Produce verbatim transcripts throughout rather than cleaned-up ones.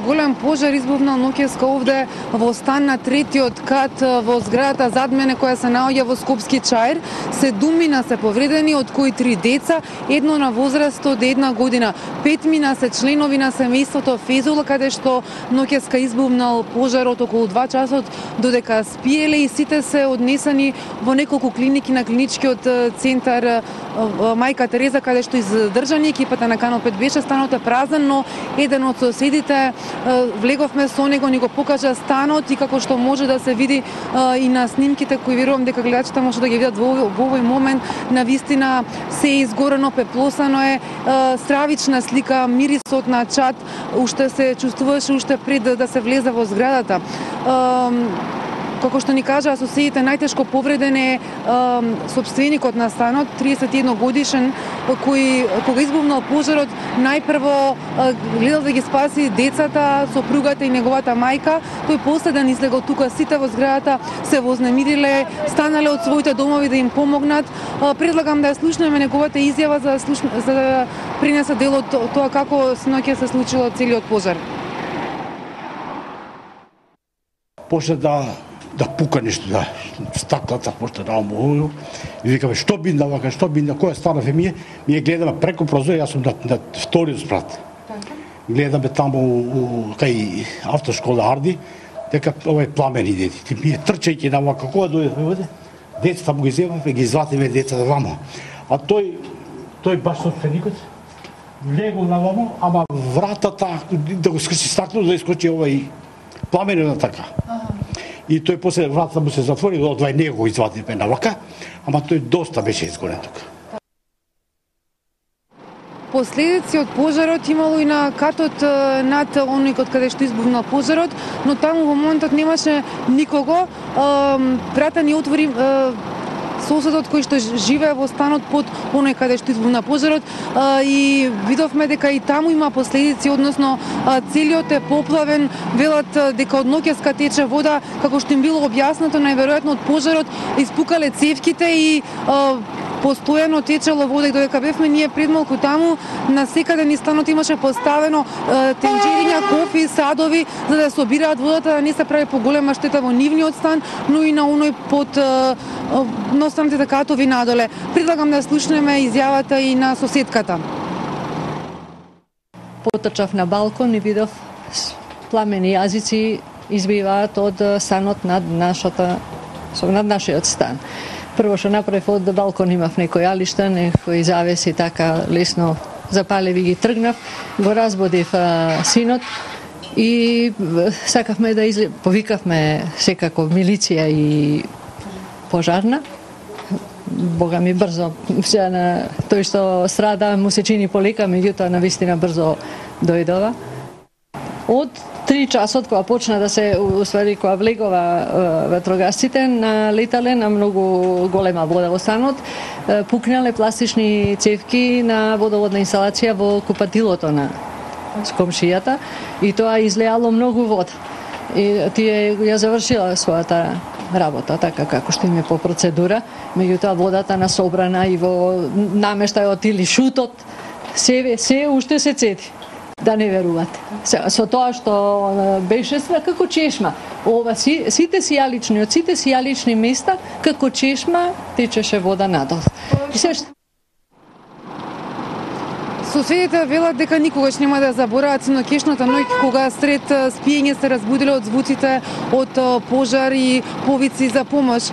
Голем пожар избувнал ноќеска овде во стан на третиот кат во зградата зад мене која се наоѓа во Скопски Чаир. Седумина се повредени, од кои три деца, едно на возраст од една година. Петмина се членови на семејството Фезул, каде што ноќеска избувнал пожарот околу два часот, додека спиеле и сите се однесени во неколку клиники на клиничкиот центар Мајка Тереза, каде што издржани екипата на Канал пет беше. Станот е празен, но еден од соседите влеговме со него, ни го покажа станот и како што може да се види и на снимките кои верувам дека гледачите може да ги видат во, во овој момент, навистина се е изгорено, пеплосано е, стравична слика, мирисот на чад уште се чувствуваше уште пред да се влезе во зградата. Како што ни кажа соседите, најтешко повреден е сопственикот на станот, триесет и едно годишен, кој кога избувнал пожарот, најпрво гледал да ги спаси децата, сопругата и неговата мајка. Тој последен излегол тука, сите во зградата се вознемириле, станале од своите домови да им помогнат. Предлагам да ја слушнеме неговата изјава за, слуш... за да принесе дел од тоа како синоќа се случило целиот пожар. Почна да да пука нешто, да стаклата почна да омоју. И викаме што бинда вака, што бинда, која стана фемија, ние гледаме преку прозор, јас сум на, на вториот спрат. Гледаме таму у, кај автошкола Арди, дека овој пламен иде. Ти ми трчајќи на вака, кога дојдеме овде, децата му ги земавме, ги изватиме децата вама. А тој тој баш собственикот влегол на вама, ама вратата да го скрши стакло да искочи овој пламенот така. И тој после вратата му се затвори, од двај него го извадиме на вака, ама тој доста беше изгорен тука. Последици од пожарот имало и на катот над оној каде што избувнал пожарот, но таму во моментот немаше никого. Врата ни отвори соседот кој што живее во станот под оној каде што избувна пожарот и видовме дека и таму има последици, односно целиот е поплавен, велат дека од ноќеска тече вода, како што им било објаснато, најверојатно од пожарот испукале цевките и постојано течело вода, и додека бевме ние пред малку таму, на секаде низ станот имаше поставено тенџериња, кофи, садови, за да собираат водата, да не се прави поголема штета во нивниот стан, но и на оној под на останатите катови надоле. Предлагам да слушнеме изјавата и на соседката. Потрчав на балкон и видов пламени јазици избиваат од станот над нашата, над нашиот стан. Прво што направив од балкон имав некој алишта, некои завеси така лесно запалеви ги тргнав, го разбудив а, синот и сакавме да изле... повикавме секако милиција и пожарна. Бога ми брзо, сега на тој што страда му се чини полека, меѓутоа навистина брзо дојдова. Од три часот кога почна да се, усвари кога влегова ветрогасците, налетале на многу голема вода во станот, пукнале пластични цевки на водоводна инсталација во купатилото на комшијата и тоа излеало многу вода. И тие ја завршила својата работа, така како што им е по процедура, меѓутоа водата насобрана и во намештајот или шутот, се, се уште се цеди. Да не верувате. Со тоа што беше све како чешма. Ова си, сите сијалични, од сите сијалични места, како чешма, течеше вода надол. И се што... Соседите велат дека никогаш нема да забораат синокешната ноќ кога сред спиење се разбудиле од звуците од пожар и повици за помош.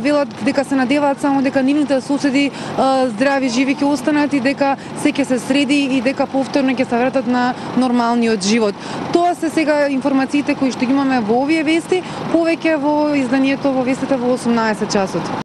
Велат дека се надеваат само дека нивните соседи здрави, живи ќе останат и дека се ќе се среди и дека повторно ќе се вратат на нормалниот живот. Тоа се сега информациите кои што имаме во овие вести, повеќе во изданието во вестите во осумнаесет часот.